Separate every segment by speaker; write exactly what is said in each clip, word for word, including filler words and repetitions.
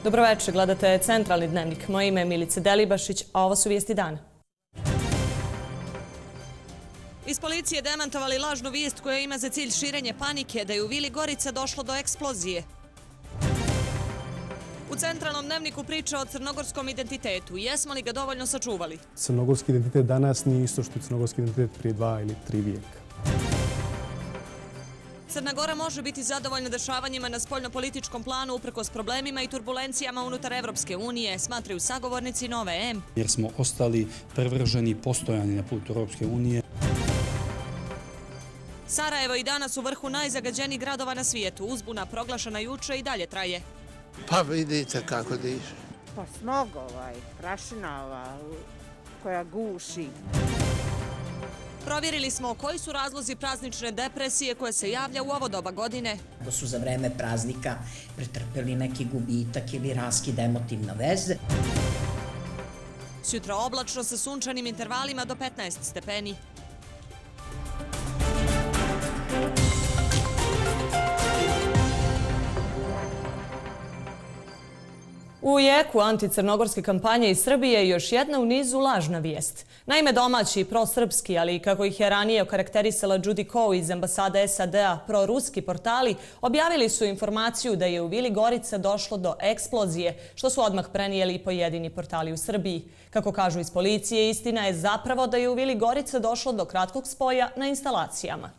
Speaker 1: Dobroveče, gledate Centralni dnevnik. Moje ime je Milica Delibašić, a ovo su vijesti dana. Iz policije demantovali lažnu vijest koja ima za cilj širenje panike da je u Vili Gorica došlo do eksplozije. U Centralnom dnevniku priča o crnogorskom identitetu. Jesmo li ga dovoljno sačuvali?
Speaker 2: Crnogorski identitet danas nije isto što je crnogorski identitet prije dva ili tri vijeka.
Speaker 1: Crna Gora može biti zadovoljna dešavanjima na spoljnopolitičkom planu uprkos problemima i turbulencijama unutar Evropske unije, smatraju sagovornici Nove M.
Speaker 3: Jer smo ostali prevrženi postojani na putu Evropske unije.
Speaker 1: Sarajevo i danas u vrhu najzagađenijih gradova na svijetu. Uzbuna proglašena juče i dalje traje.
Speaker 4: Pa vidite kako diše.
Speaker 5: Pa smog ovaj, prašina ova koja guši.
Speaker 1: Provjerili smo koji su razlozi praznične depresije koje se javlja u ovo doba godine.
Speaker 6: Da su za vreme praznika pretrpeli neki gubitak ili raskid emotivne veze.
Speaker 1: Sutra oblačno sa sunčanim intervalima do petnaest stepeni. U jeku anticrnogorske kampanje iz Srbije još jedna u nizu lažna vijest. Naime, domaći prosrpski, ali i kako ih je ranije okarakterisala Judy Coe iz ambasade S A D-a, proruski portali objavili su informaciju da je u Vili Gorica došlo do eksplozije, što su odmah prenijeli i pojedini portali u Srbiji. Kako kažu iz policije, istina je zapravo da je u Vili Gorica došlo do kratkog spoja na instalacijama.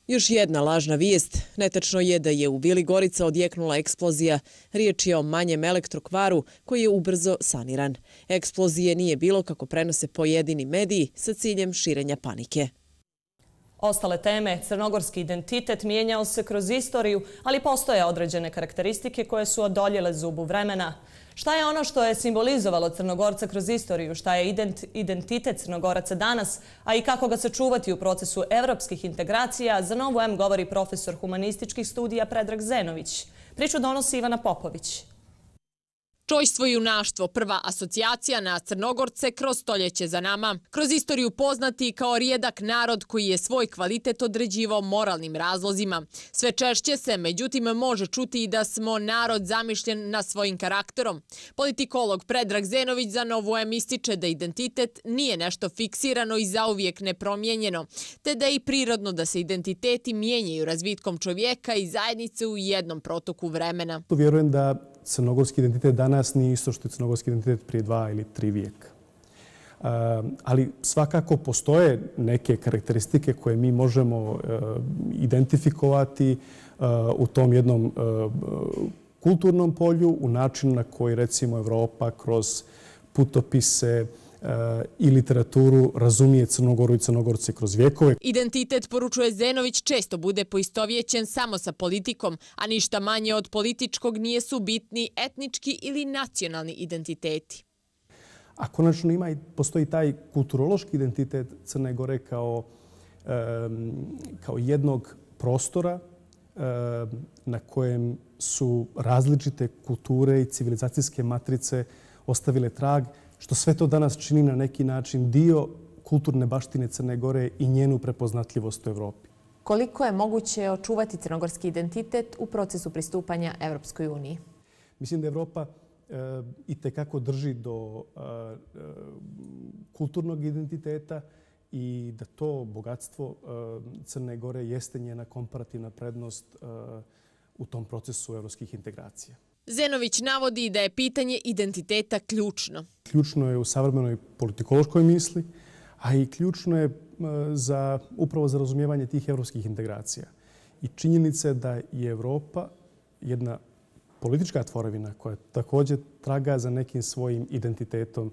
Speaker 7: Još jedna lažna vijest. Netačno je da je u Vili Gorica odjeknula eksplozija. Riječ je o manjem elektrokvaru koji je ubrzo saniran. Eksplozije nije bilo, kako prenose pojedini mediji, sa ciljem širenja panike.
Speaker 1: Ostale teme, crnogorski identitet mijenjao se kroz istoriju, ali postoje određene karakteristike koje su odoljele zubu vremena. Šta je ono što je simbolizovalo Crnogorca kroz istoriju? Šta je identitet Crnogoraca danas? A i kako ga sačuvati u procesu evropskih integracija? Za Novu M govori profesor humanističkih studija Predrag Zenović. Priču donosi Ivana Popović.
Speaker 8: Čojstvo i junaštvo, prva asocijacija na Crnogorce kroz stoljeće za nama. Kroz istoriju poznati kao rijedak narod koji je svoj kvalitet određivao moralnim razlozima. Sve češće se, međutim, može čuti i da smo narod zamišljen na svojim karakterom. Politikolog Predrag Zenović za Novu M ističe da identitet nije nešto fiksirano i zauvijek nepromijenjeno, te da je i prirodno da se identiteti mijenjaju razvitkom čovjeka i zajednice u jednom protoku vremena.
Speaker 2: Vjerujem da crnogorski identitet danas nije isto što je crnogorski identitet prije dva ili tri vijeka. Ali svakako postoje neke karakteristike koje mi možemo identifikovati u tom jednom kulturnom polju, u načinu na koji, recimo, Evropa kroz putopise i literaturu razumije Crnogoru i Crnogorce kroz vjekove.
Speaker 8: Identitet, poručuje Zenović, često bude poistovjećen samo sa politikom, a ništa manje od političkog nije su bitni etnički ili nacionalni identiteti.
Speaker 2: A konačno ima i postoji taj kulturološki identitet Crne Gore kao, kao jednog prostora na kojem su različite kulture i civilizacijske matrice ostavile trag, što sve to danas čini na neki način dio kulturne baštine Crne Gore i njenu prepoznatljivost u Evropi.
Speaker 9: Koliko je moguće očuvati crnogorski identitet u procesu pristupanja Evropskoj uniji?
Speaker 2: Mislim da Evropa itekako drži do kulturnog identiteta i da to bogatstvo Crne Gore jeste njena komparativna prednost u tom procesu evropskih integracija.
Speaker 8: Zenović navodi da je pitanje identiteta ključno.
Speaker 2: Ključno je u savremenoj politikološkoj misli, a i ključno je za, upravo za razumijevanje tih evropskih integracija. I činjenice da je Evropa jedna politička tvorevina koja također traga za nekim svojim identitetom,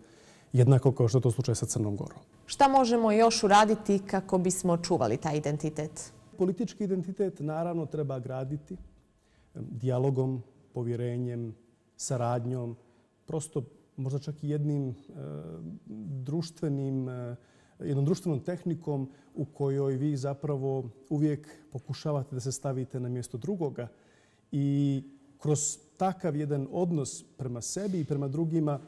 Speaker 2: jednako kao što je to slučaj sa Crnom Gorom.
Speaker 9: Šta možemo još uraditi kako bismo očuvali taj identitet?
Speaker 2: Politički identitet naravno treba graditi dijalogom, povjerenjem, saradnjom, prosto možda čak i jednim društvenim, jednom društvenom tehnikom u kojoj vi zapravo uvijek pokušavate da se stavite na mjesto drugoga i kroz takav jedan odnos prema sebi i prema drugima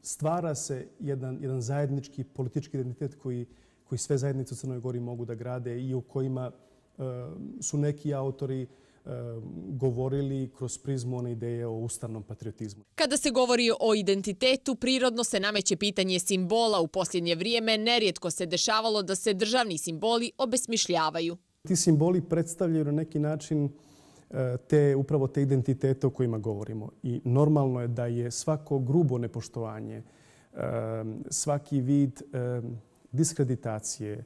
Speaker 2: stvara se jedan, jedan zajednički politički identitet koji, koji sve zajednice u Crnoj Gori mogu da grade i u kojima su neki autori govorili kroz prizmu one ideje o ustavnom patriotizmu.
Speaker 8: Kada se govori o identitetu, prirodno se nameće pitanje simbola. U posljednje vrijeme nerijetko se dešavalo da se državni simboli obesmišljavaju.
Speaker 2: Ti simboli predstavljaju na neki način te, upravo te identitete o kojima govorimo. I normalno je da je svako grubo nepoštovanje, svaki vid diskreditacije,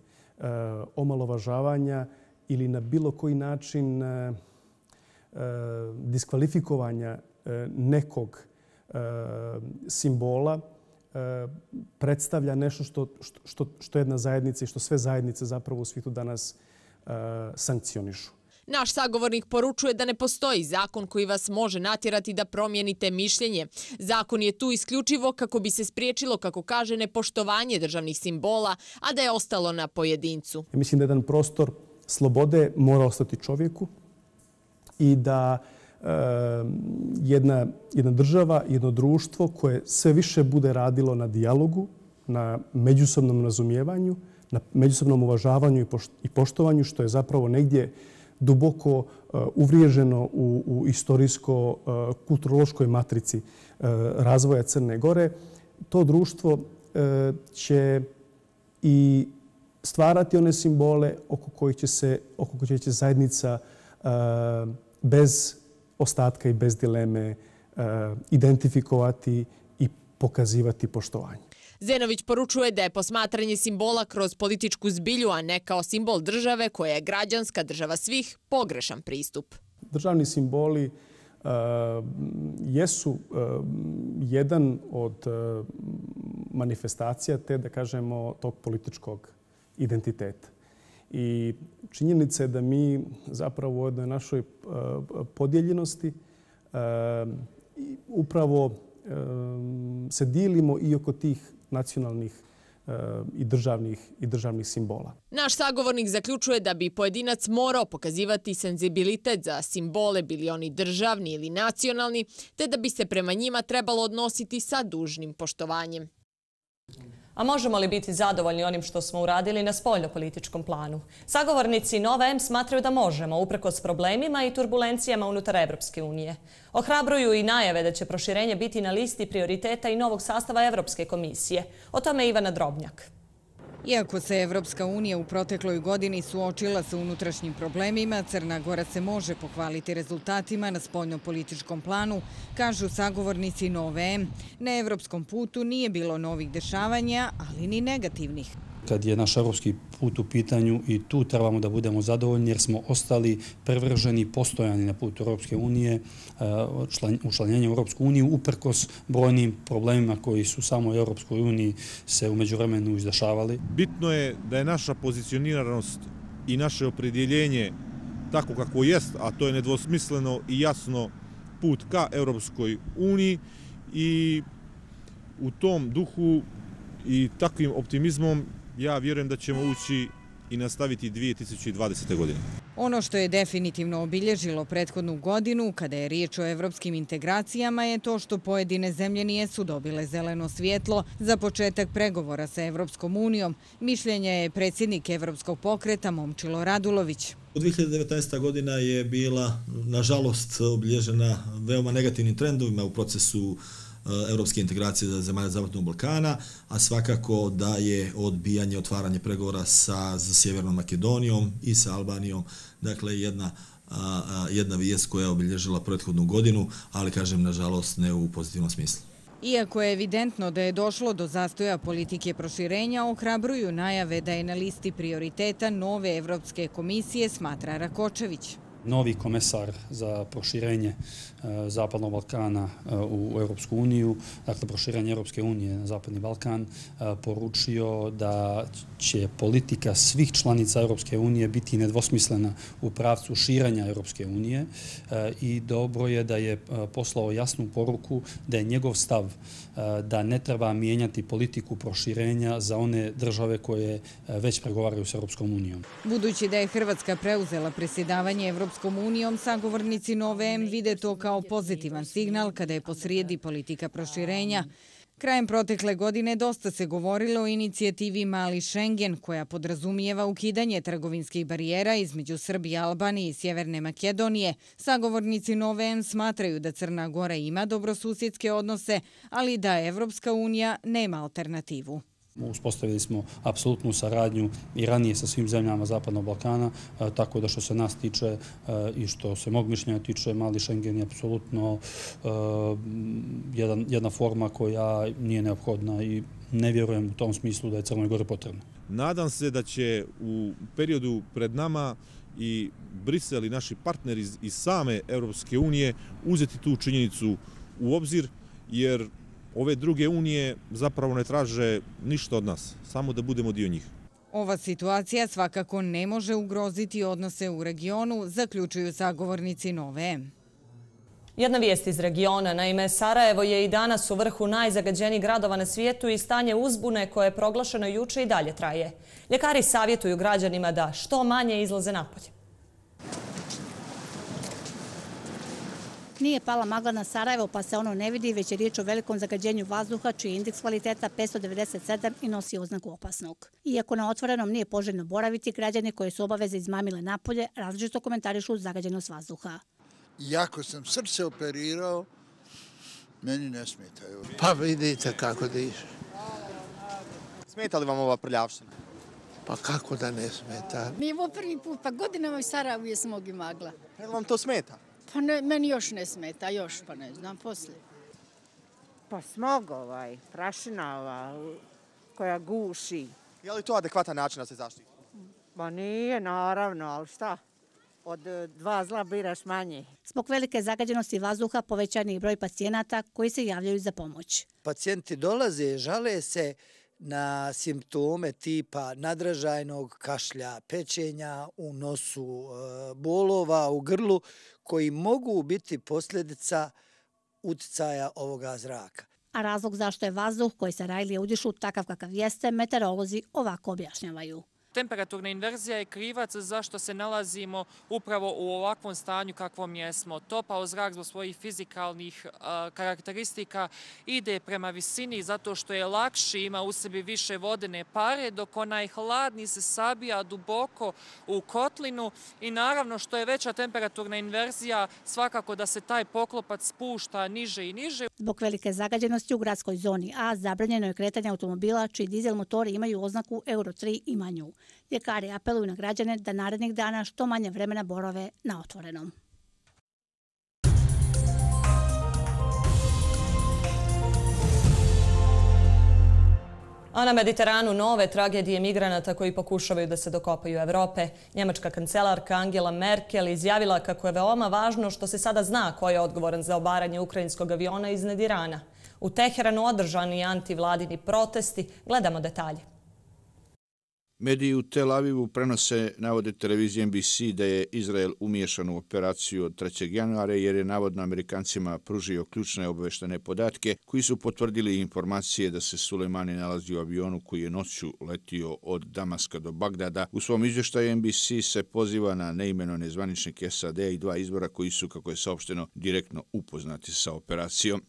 Speaker 2: omalovažavanja ili na bilo koji način diskvalifikovanja nekog simbola predstavlja nešto što, što, što jedna zajednica i što sve zajednice zapravo u svijetu danas sankcionišu.
Speaker 8: Naš sagovornik poručuje da ne postoji zakon koji vas može natjerati da promijenite mišljenje. Zakon je tu isključivo kako bi se spriječilo, kako kaže, nepoštovanje državnih simbola, a da je ostalo na pojedincu.
Speaker 2: Mislim da jedan prostor slobode mora ostati čovjeku i da e, jedna, jedna država, jedno društvo koje sve više bude radilo na dijalogu, na međusobnom razumijevanju, na međusobnom uvažavanju i poštovanju, što je zapravo negdje duboko uh, uvriježeno u, u istorijsko-kulturološkoj uh, matrici uh, razvoja Crne Gore. To društvo uh, će i stvarati one simbole oko kojih će se oko kojih će zajednica uh, bez ostatka i bez dileme uh, identifikovati i pokazivati poštovanje.
Speaker 8: Zenović poručuje da je posmatranje simbola kroz političku zbilju, a ne kao simbol države koja je građanska država svih, pogrešan pristup.
Speaker 2: Državni simboli uh, jesu uh, jedan od uh, manifestacija te, da kažemo, tog političkog identiteta. I činjenica je da mi zapravo u jednoj našoj uh, podijeljenosti uh, upravo uh, se dijelimo i oko tih nacionalnih uh, i državnih, i državnih simbola.
Speaker 8: Naš sagovornik zaključuje da bi pojedinac morao pokazivati senzibilitet za simbole, bili oni državni ili nacionalni, te da bi se prema njima trebalo odnositi sa dužnim poštovanjem.
Speaker 1: A možemo li biti zadovoljni onim što smo uradili na spoljnopolitičkom planu? Sagovornici Nova M smatraju da možemo, uprkos problemima i turbulencijama unutar Evropske unije. Ohrabruju i najave da će proširenje biti na listi prioriteta i novog sastava Evropske komisije. O tome Ivana Drobnjak.
Speaker 10: Iako se Evropska unija u protekloj godini suočila sa unutrašnjim problemima, Crna Gora se može pohvaliti rezultatima na spoljnopolitičkom planu, kažu sagovornici Nove M. Na evropskom putu nije bilo novih dešavanja, ali ni negativnih.
Speaker 3: Kad je naš evropski put u pitanju i tu trebamo da budemo zadovoljni jer smo ostali prevrženi i postojani na putu Europske unije, učlanjenje u Europsku uniju, uprkos brojnim problemima koji su samo u Europskoj uniji se u međuvremenu izdešavali.
Speaker 11: Bitno je da je naša pozicioniranost i naše opredjeljenje tako kako jest, a to je nedvosmisleno i jasno put ka Europskoj uniji, i u tom duhu i takvim optimizmom ja vjerujem da ćemo ući i nastaviti dvije tisuće dvadesete. godine.
Speaker 10: Ono što je definitivno obilježilo prethodnu godinu, kada je riječ o evropskim integracijama, je to što pojedine zemlje nijesu dobile zeleno svjetlo za početak pregovora sa Evropskom unijom. Mišljenja je predsjednik Evropskog pokreta Momčilo Radulović.
Speaker 12: dvije hiljade devetnaesta. godina je bila, nažalost, obilježena veoma negativnim trendovima u procesu evropske integracije za zemalja Zapadnog Balkana, a svakako da je odbijanje, otvaranje pregovora sa Sjevernom Makedonijom i sa Albanijom, dakle jedna, jedna vijest koja je obilježila prethodnu godinu, ali kažem, nažalost, ne u pozitivnom smislu.
Speaker 10: Iako je evidentno da je došlo do zastoja politike proširenja, ohrabruju najave da je na listi prioriteta nove Evropske komisije, smatra Rakočević.
Speaker 3: Novi komesar za proširenje Zapadnog Balkana u Europsku uniju, dakle proširenje Europske unije na Zapadni Balkan, poručio da će politika svih članica Europske unije biti nedvosmislena u pravcu širenja Europske unije, i dobro je da je poslao jasnu poruku da je njegov stav da ne treba mijenjati politiku proširenja za one države koje već pregovaraju s Europskom unijom.
Speaker 10: Budući da je Hrvatska preuzela predsjedavanje Europskom unijom, sagovornici Nove M vide to kao pozitivan signal kada je posrijedi politika proširenja. Krajem protekle godine dosta se govorilo o inicijativi Mali Schengen, koja podrazumijeva ukidanje trgovinskih barijera između Srbije, Albanije i Sjeverne Makedonije. Sagovornici Nove M smatraju da Crna Gora ima dobrosusjedske odnose, ali da Evropska unija nema alternativu.
Speaker 3: Uspostavili smo apsolutnu saradnju i ranije sa svim zemljama Zapadnog Balkana, tako da što se nas tiče i što se mog mišljenja tiče, Mali Schengen je apsolutno jedna forma koja nije neophodna i ne vjerujem u tom smislu da je Crnoj Gori potrebna.
Speaker 11: Nadam se da će u periodu pred nama i Brisel i naši partneri iz same Europske unije uzeti tu činjenicu u obzir, jer ove druge unije zapravo ne traže ništa od nas, samo da budemo dio njih.
Speaker 10: Ova situacija svakako ne može ugroziti odnose u regionu, zaključuju sagovornici Nove M.
Speaker 1: Jedna vijest iz regiona. Naime, Sarajevo je i danas u vrhu najzagađenijih gradova na svijetu i stanje uzbune koje je proglašeno juče i dalje traje. Ljekari savjetuju građanima da što manje izlaze napolje.
Speaker 13: Nije pala magla na Sarajevo pa se ono ne vidi, već je riječ o velikom zagađenju vazduha čiji je indeks kvaliteta petsto devedeset sedam i nosi oznaku opasnog. Iako na otvorenom nije poželjno boraviti, građani koji su obaveze izmamile napolje različito komentarišu zagađenost vazduha.
Speaker 4: Iako sam srce operirao, meni ne smetaju. Pa vidite kako diše.
Speaker 14: Smeta li vam ova prljavština?
Speaker 4: Pa kako da ne smeta?
Speaker 15: Nije ovo prvi put, pa godinama u Sarajevu je smog i magla.
Speaker 14: Je li vam to smeta?
Speaker 15: Pa ne, meni još ne smeta, još pa ne znam, poslije.
Speaker 5: Pa smog ovaj, prašina ova, koja guši.
Speaker 14: Je li to adekvatan način da se zaštiti?
Speaker 5: Pa nije, naravno, ali šta? Od dva zla biraš manje.
Speaker 13: Zbog velike zagađenosti vazduha povećan je i broj pacijenata koji se javljaju za pomoć.
Speaker 16: Pacijenti dolaze, žale se na simptome tipa nadražajnog kašlja, pečenja u nosu, bolova u grlu, koji mogu biti posljedica uticaja ovoga zraka.
Speaker 13: A razlog zašto je vazduh koji Sarajlije udišu takav kakav jeste, meteorolozi ovako objašnjavaju.
Speaker 17: Temperaturna inverzija je krivac zašto se nalazimo upravo u ovakvom stanju kakvom jesmo. Topao zrak zbog svojih fizikalnih a, karakteristika ide prema visini zato što je lakši, ima u sebi više vodene pare, dok onaj hladni se sabija duboko u kotlinu i naravno što je veća temperaturna inverzija, svakako da se taj poklopac spušta niže i niže.
Speaker 13: Zbog velike zagađenosti u gradskoj zoni A zabranjeno je kretanje automobila čiji dizel motori imaju oznaku Euro tri i manju. Ljekari apeluju na građane da narednih dana što manje vremena borave na otvorenom.
Speaker 1: A na Mediteranu nove tragedije migranata koji pokušavaju da se dokopaju Evrope. Njemačka kancelarka Angela Merkel izjavila kako je veoma važno što se sada zna ko je odgovoran za obaranje ukrajinskog aviona iznad Irana. U Teheranu održani antivladini protesti. Gledamo detalje.
Speaker 18: Mediji u Tel Avivu prenose, navode televizije N B C, da je Izrael umiješan u operaciju od trećeg januara jer je navodno Amerikancima pružio ključne obaveštene podatke koji su potvrdili informacije da se Sulejmani nalazi u avionu koji je noću letio od Damaska do Bagdada. U svom izvještaju N B C se poziva na neimenovane zvaničnike S A D i dva izbora koji su, kako je saopšteno, direktno upoznati sa operacijom.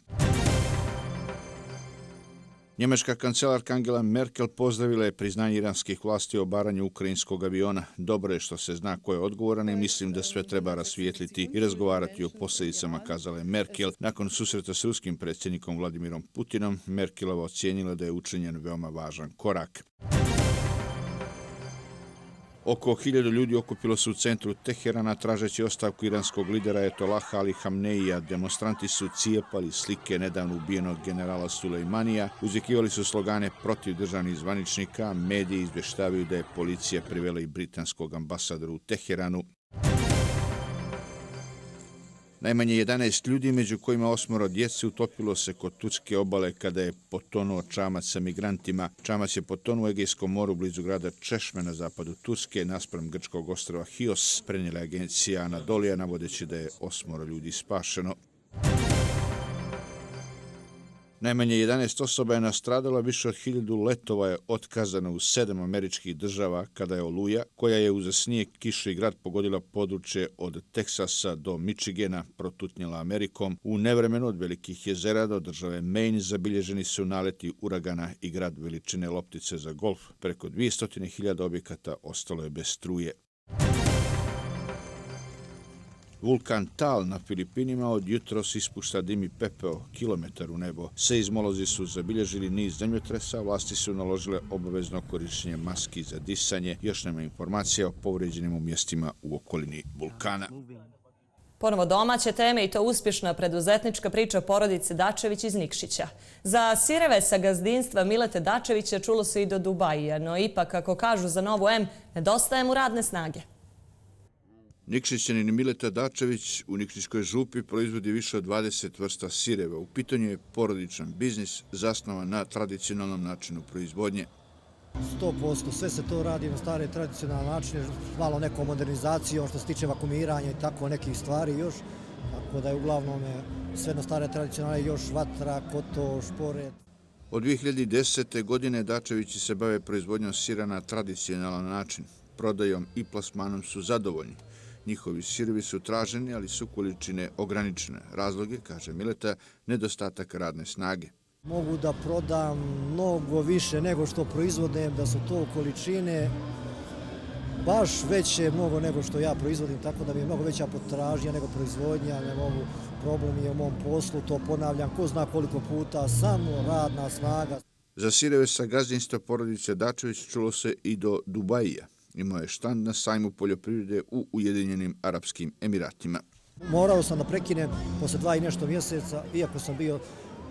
Speaker 18: Njemačka kancelarka Angela Merkel pozdravila je priznanje iranskih vlasti o obaranju ukrajinskog aviona. Dobro je što se zna ko je odgovoran i mislim da sve treba rasvijetliti i razgovarati o posljedicama, kazala je Merkel. Nakon susreta s ruskim predsjednikom Vladimirom Putinom, Merkelova ocijenila da je učinjen veoma važan korak. Oko hiljadu ljudi okupilo se u centru Teherana tražeći ostavku iranskog lidera Ajatollaha Ali Hamneija. Demonstranti su cijepali slike nedavno ubijenog generala Sulejmanija, uzvikivali su slogane protiv državnih zvaničnika, mediji izvještavaju da je policija privela i britanskog ambasadora u Teheranu. Najmanje jedanaest ljudi, među kojima osmoro djece, utopilo se kod turske obale kada je potonuo čamac sa migrantima. Čamac je potonuo u Egejskom moru blizu grada Češme na zapadu Turske, naspram grčkog ostrva Hios, prenijela agencija Anadolija, navodeći da je osmoro ljudi spašeno. Najmanje jedanaest osoba je nastradala, više od hiljadu letova je otkazano u sedam američkih država kada je oluja, koja je uz snijeg, kišu i grad pogodila područje od Teksasa do Michigana, protutnjela Amerikom. U nevremenu od velikih jezera do države Maine zabilježeni su naleti uragana i grad veličine loptice za golf. Preko dvjesto hiljada objekata ostalo je bez struje. Vulkan Tal na Filipinima od jutros ispušta dim i pepeo kilometar u nebo. Seizmolozi su zabilježili niz zemljotresa, vlasti su naložile obavezno korištenje maski za disanje. Još nema informacija o povređenim u mjestima u okolini vulkana.
Speaker 1: Ponovo domaće teme i to uspješna preduzetnička priča porodice Dačević iz Nikšića. Za sireve sa gazdinstva Milete Dačevića čulo se i do Dubajija, no ipak, kako kažu za Novu M, nedostaje mu radne snage.
Speaker 18: Nikšićanin Mileta Dačević u Nikšićkoj župi proizvodi više od dvadeset vrsta sireva. U pitanju je porodičan biznis zasnovan na tradicionalnom načinu proizvodnje.
Speaker 19: sto posto sve se to radi na stare tradicionalne načine, malo nekom modernizacijom što se tiče vakumiranja i tako nekih stvari još. Tako da je uglavnom sve na stare tradicionalne, još vatra, koto, šporet.
Speaker 18: Od dvije hiljade desete. godine Dačevići se bave proizvodnjom sira na tradicionalan način. Prodajom i plasmanom su zadovoljni. Njihovi sirovi su traženi, ali su količine ograničene. Razloge, kaže Mileta, nedostatak radne snage.
Speaker 19: Mogu da prodam mnogo više nego što proizvodem, da su to količine baš veće mnogo nego što ja proizvodim, tako da mi je mnogo veća potražnja nego proizvodnja, ne mogu, problem je u mom poslu, to ponavljam, ko zna koliko puta, samo radna snaga.
Speaker 18: Za sireve sa gazdinstva porodice Dačević čulo se i do Dubajija. Imao je štand na sajmu poljoprivrede u Ujedinjenim Arapskim Emiratima.
Speaker 19: Morao sam da prekinem posle dva i nešto mjeseca, iako sam bio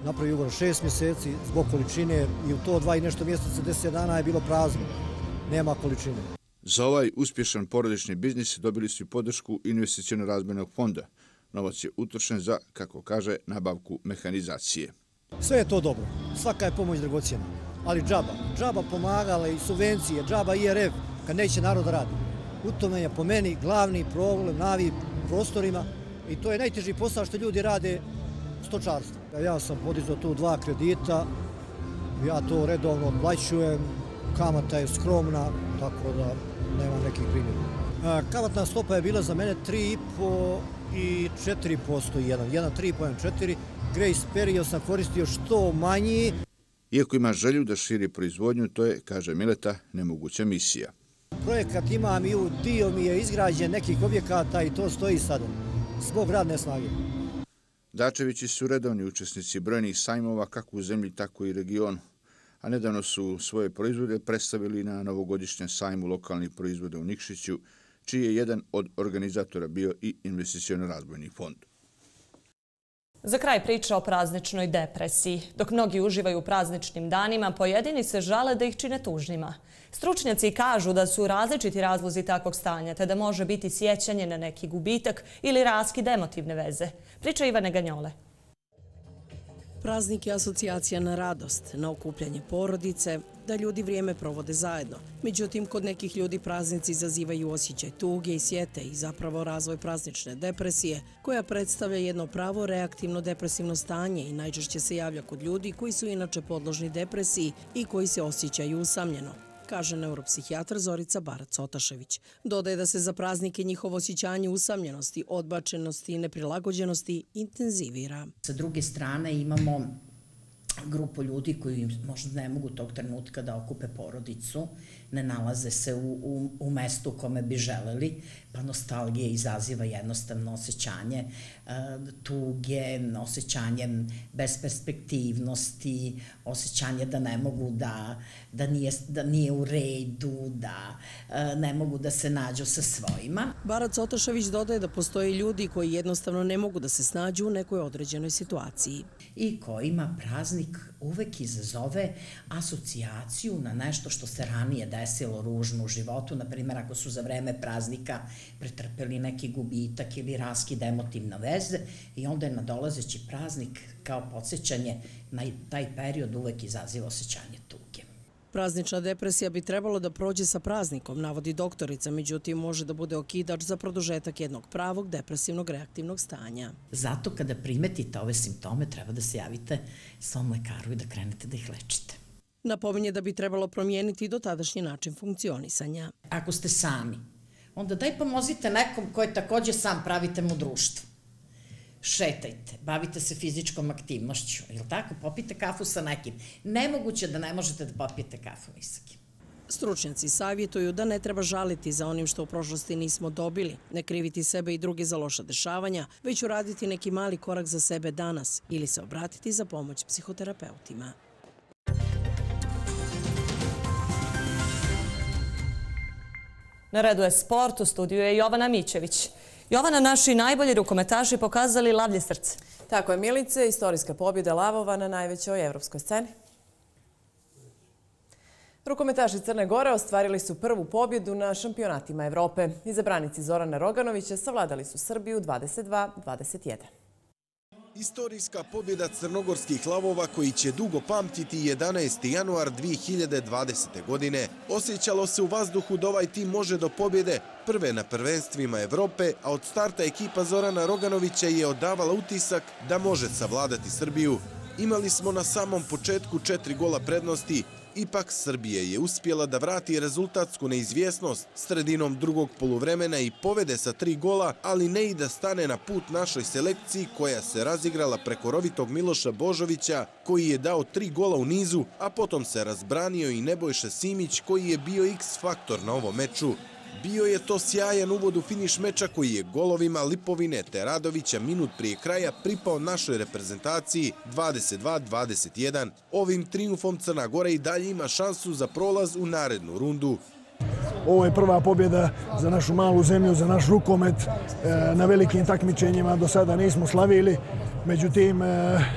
Speaker 19: napravio ugovor šest mjeseci zbog količine i u to dva i nešto mjeseca, deset dana je bilo prazno. Nema količine.
Speaker 18: Za ovaj uspješan porodični biznis dobili su i podršku investiciono-razvojnog fonda. Novac je utrošen za, kako kaže, nabavku mehanizacije.
Speaker 19: Sve je to dobro. Svaka je pomoć dragocjena. Ali džaba. Džaba pomagala i subvencije, džaba I R F, kad neće narod da radi. U tome je po meni glavni problem na ovim prostorima i to je najteži posao što ljudi rade stočarstvo. Ja sam podizao tu dva kredita, ja to redovno odplaćujem, kamata je skromna, tako da nemam nekih primjera. Kamatna stopa je bila za mene tri i po i četiri posto jedan, jedan tri i po, jedan četiri. Grace period sam koristio što manji.
Speaker 18: Iako ima želju da širi proizvodnju, to je, kaže Mileta, nemoguća misija.
Speaker 19: Projekat imam i u dio mi je izgrađen nekih objekata i to stoji sada, zbog radne snage.
Speaker 18: Dačevići su redovni učesnici brojnih sajmova kako u zemlji, tako i regionu, a nedavno su svoje proizvode predstavili na novogodišnjem sajmu lokalnih proizvoda u Nikšiću, čiji je jedan od organizatora bio i investiciono-razvojni fond.
Speaker 1: Za kraj priča o prazničnoj depresiji. Dok mnogi uživaju u prazničnim danima, pojedini se žale da ih čine tužnima. Stručnjaci kažu da su različiti razlozi takvog stanja, te da može biti sjećanje na neki gubitak ili raskid emotivne veze. Priča Ivane Ganjole.
Speaker 20: Praznik je asocijacija na radost, na okupljanje porodice, da ljudi vrijeme provode zajedno. Međutim, kod nekih ljudi praznici izazivaju osjećaj tuge i sjete i zapravo razvoj praznične depresije, koja predstavlja jedno pravo reaktivno depresivno stanje i najčešće se javlja kod ljudi koji su inače podložni depresiji i koji se osjećaju usamljeno, kaže neuropsihijatar Zorica Barac-Otašević. Dodaje da se za praznike njihovo osjećanje usamljenosti, odbačenosti i neprilagođenosti intenzivira.
Speaker 6: Sa druge strane imamo grupu ljudi koji možda ne mogu tog trenutka da okupe porodicu, ne nalaze se u, u, u mestu u kome bi želeli, pa nostalgija izaziva jednostavno osjećanje e, tuge, osjećanje besperspektivnosti, osjećanje da ne mogu da, da, nije, da nije u redu, da e, ne mogu da se nađu sa svojima.
Speaker 20: Barac-Otašević dodaje da postoje ljudi koji jednostavno ne mogu da se snađu u nekoj određenoj situaciji.
Speaker 6: I kojima praznik uvek izazove asocijaciju na nešto što se ranije desilo ružno u životu, na primjer ako su za vreme praznika pretrpeli neki gubitak ili raskid emotivne veze i onda je nadolazeći praznik kao podsjećanje na taj period uvek izaziva osjećanje tuge.
Speaker 20: Praznična depresija bi trebalo da prođe sa praznikom, navodi doktorica, međutim može da bude okidač za produžetak jednog pravog depresivnog reaktivnog stanja.
Speaker 6: Zato kada primetite ove simptome treba da se javite svom lekaru i da krenete da ih lečite.
Speaker 20: Napominje da bi trebalo promijeniti dotadašnji način funkcionisanja.
Speaker 6: Ako ste sami, onda daj pomozite nekom koji također sam, pravite mu društvo. Šetajte, bavite se fizičkom aktivnošću, jel tako? Popijte kafu sa nekim. Nemoguće da ne možete da popijete kafu ni sa kim.
Speaker 20: Stručnjaci savjetuju da ne treba žaliti za onim što u prošlosti nismo dobili, ne kriviti sebe i druge za loša dešavanja, već uraditi neki mali korak za sebe danas ili se obratiti za pomoć psihoterapeutima.
Speaker 1: Na redu je sport, u studiju je Jovana Mićević. Jovana, naši najbolji rukometaši pokazali lavlje srce.
Speaker 7: Tako je, Milice, istorijska pobjeda lavova na najvećoj evropskoj sceni. Rukometaši Crne Gore ostvarili su prvu pobjedu na šampionatima Evrope. Izabranici Zorana Roganovića savladali su Srbiju dvadeset dva dvadeset jedan.
Speaker 21: Istorijska pobjeda crnogorskih lavova koji će dugo pamtiti jedanaesti januar dvije hiljade dvadesete. godine. Osjećalo se u vazduhu da ovaj tim može do pobjede prve na prvenstvima Evrope, a od starta ekipa Zorana Roganovića je odavala utisak da može savladati Srbiju. Imali smo na samom početku četiri gola prednosti, ipak Srbija je uspjela da vrati rezultatsku neizvjesnost sredinom drugog poluvremena i povede sa tri gola, ali ne i da stane na put našoj selekciji koja se razigrala preko rovitog Miloša Božovića koji je dao tri gola u nizu, a potom se razbranio i Nebojša Simić koji je bio X faktor na ovom meču. Bio je to sjajan uvod u finiš meča koji je golovima Lipovine te Radovića minut prije kraja pripao našoj reprezentaciji dvadeset dva dvadeset jedan. Ovim trijumfom Crna Gora i dalje ima šansu za prolaz u narednu rundu.
Speaker 22: Ovo je prva pobjeda za našu malu zemlju, za naš rukomet. Na velikim takmičenjima do sada nismo slavili, međutim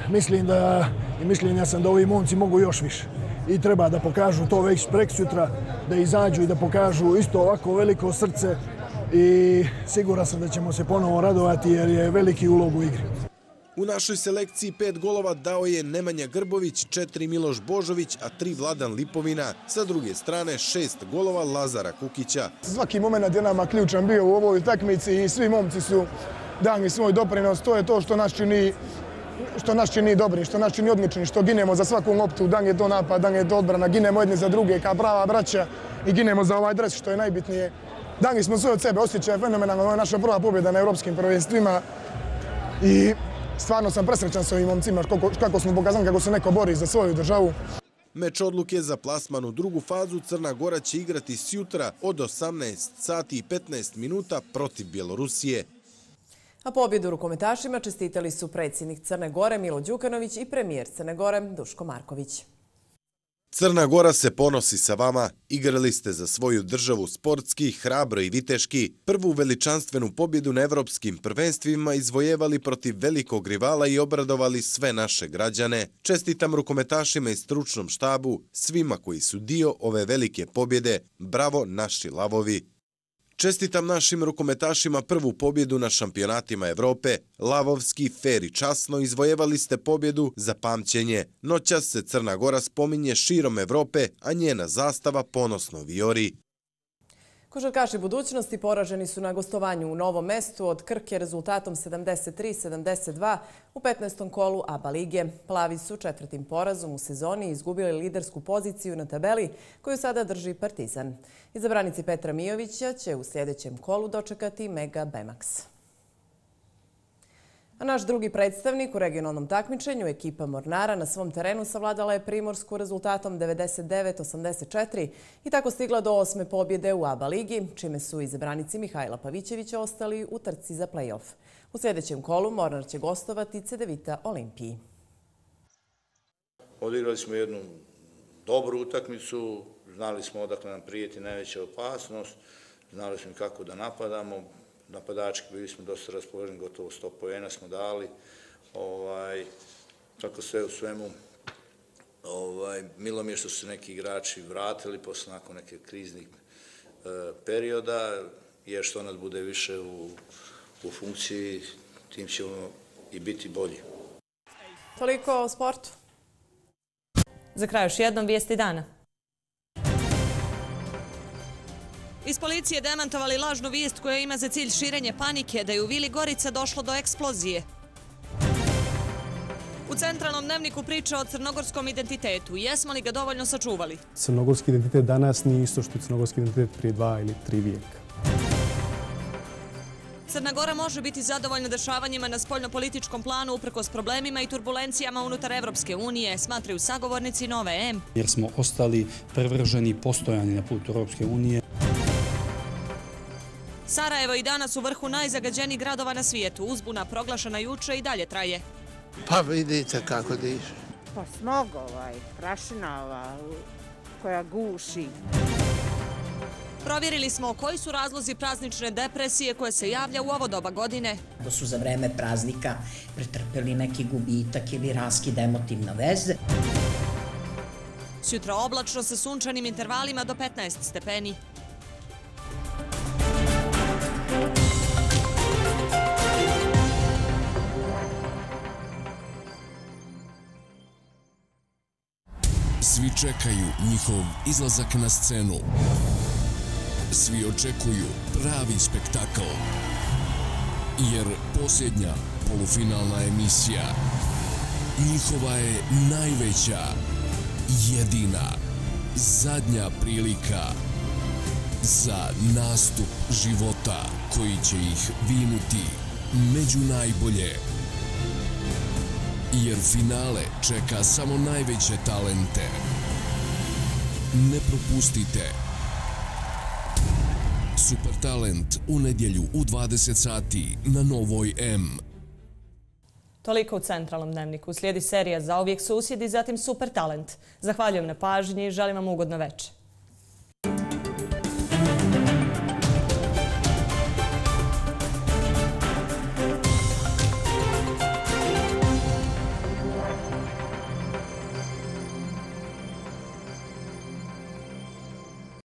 Speaker 22: mislim da i mišljenja sam da ovi momci mogu još više. I treba da pokažu to već preksutra, da izađu i da pokažu isto ovako veliko srce i siguran sam da ćemo se ponovo radovati jer je veliki ulog u igri.
Speaker 21: U našoj selekciji pet golova dao je Nemanja Grbović, četiri Miloš Božović, a tri Vladan Lipovina. Sa druge strane šest golova Lazara Kukića.
Speaker 22: Svaki moment je nama ključan bio u ovoj utakmici i svi momci su dali svoj doprinos. To je to što nas čini što nas čini dobri, što nas čini odlični, što ginemo za svaku loptu, da li je to napad, da li je to odbrana, ginemo jedni za druge kao prava braća i ginemo za ovaj dres, što je najbitnije. Dali smo sve od sebe, osjećaj fenomenalno, ovo je naša prva pobjeda na evropskim prvenstvima i stvarno sam presrećan s ovim momcima, kako smo pokazali kako se neko bori za svoju državu.
Speaker 21: Meč odluke za plasman u drugu fazu Crna Gora će igrati sjutra od osamnaest sati i petnaest minuta protiv Bjelorusije.
Speaker 7: A pobjedu rukometašima čestitali su predsjednik Crne Gore Milo Đukanović i premijer Crne Gore Duško Marković.
Speaker 21: Crna Gora se ponosi sa vama. Igrali ste za svoju državu sportski, hrabro i viteški. Prvu veličanstvenu pobjedu na evropskim prvenstvima izvojevali protiv velikog rivala i obradovali sve naše građane. Čestitam rukometašima i stručnom štabu, svima koji su dio ove velike pobjede. Bravo naši lavovi! Čestitam našim rukometašima prvu pobjedu na šampionatima Evrope. Lavovski, fer i časno izvojevali ste pobjedu za pamćenje. Noćas se Crna Gora spominje širom Evrope, a njena zastava ponosno vijori.
Speaker 7: Košarkaši budućnosti poraženi su na gostovanju u Novom Mestu od Krke rezultatom sedamdeset tri sedamdeset dva u petnaestom kolu A B A lige. Plavi su četvrtim porazom u sezoni izgubili lidersku poziciju na tabeli koju sada drži Partizan. Izabranici Petra Mijovića će u sljedećem kolu dočekati Mega Bemax. A naš drugi predstavnik u regionalnom takmičenju, ekipa Mornara, na svom terenu savladala je Primorsku rezultatom devedeset devet osamdeset četiri i tako stigla do osme pobjede u A B A ligi, čime su izabranici Mihajla Pavićevića ostali u trci za play-off. U sljedećem kolu Mornar će gostovati Cedevita Olimpiji.
Speaker 18: Odigrali smo jednu dobru utakmicu, znali smo odakle nam prijeti najveća opasnost, znali smo kako da napadamo. Napadački bili smo dosta raspoloženi, gotovo sto poena smo dali. Ovaj, tako sve u svemu, ovaj, milo mi je što su se neki igrači vratili posle nakon neke kriznih e, perioda, jer što nas bude više u, u funkciji, tim ćemo i biti bolji.
Speaker 7: Toliko o sportu.
Speaker 1: Za kraj još jednom vijesti dana. Iz policije demantovali lažnu vijest koja ima za cilj širenje panike da je u Vili Gorica došlo do eksplozije. U centralnom dnevniku priča o crnogorskom identitetu. Jesmo li ga dovoljno sačuvali?
Speaker 2: Crnogorski identitet danas nije isto što je crnogorski identitet prije dva ili tri vijeka.
Speaker 1: Crna Gora može biti zadovoljna dešavanjima na spoljnopolitičkom planu uprkos problemima i turbulencijama unutar Evropske unije, smatraju sagovornici Nove M.
Speaker 3: Jer smo ostali prevrženi postojani na putu Evropske unije.
Speaker 1: Sarajevo i danas u vrhu najzagađenijih gradova na svijetu. Uzbuna proglašena juče i dalje traje.
Speaker 4: Pa vidite kako diše.
Speaker 5: Pa smog ovaj, prašina ova koja guši.
Speaker 1: Provjerili smo koji su razlozi praznične depresije koje se javlja u ovo doba godine.
Speaker 6: Da su za vreme praznika pretrpeli neki gubitak ili raskid emotivne veze.
Speaker 1: Sutra oblačno sa sunčanim intervalima do petnaest stepeni.
Speaker 9: Svi čekaju njihov izlazak na scenu. Svi očekuju pravi spektakl. Jer posljednja polufinalna emisija njihova je najveća, jedina, zadnja prilika za nastup života koji će ih vinuti među najbolje. Jer finale čeka samo najveće talente. Ne propustite. Super talent u nedjelju u dvadeset sati na Novoj M.
Speaker 1: Toliko u centralnom dnevniku. Slijedi serija Zauvijek susjedi, zatim Super talent. Zahvaljujem na pažnji i želim vam ugodno večer.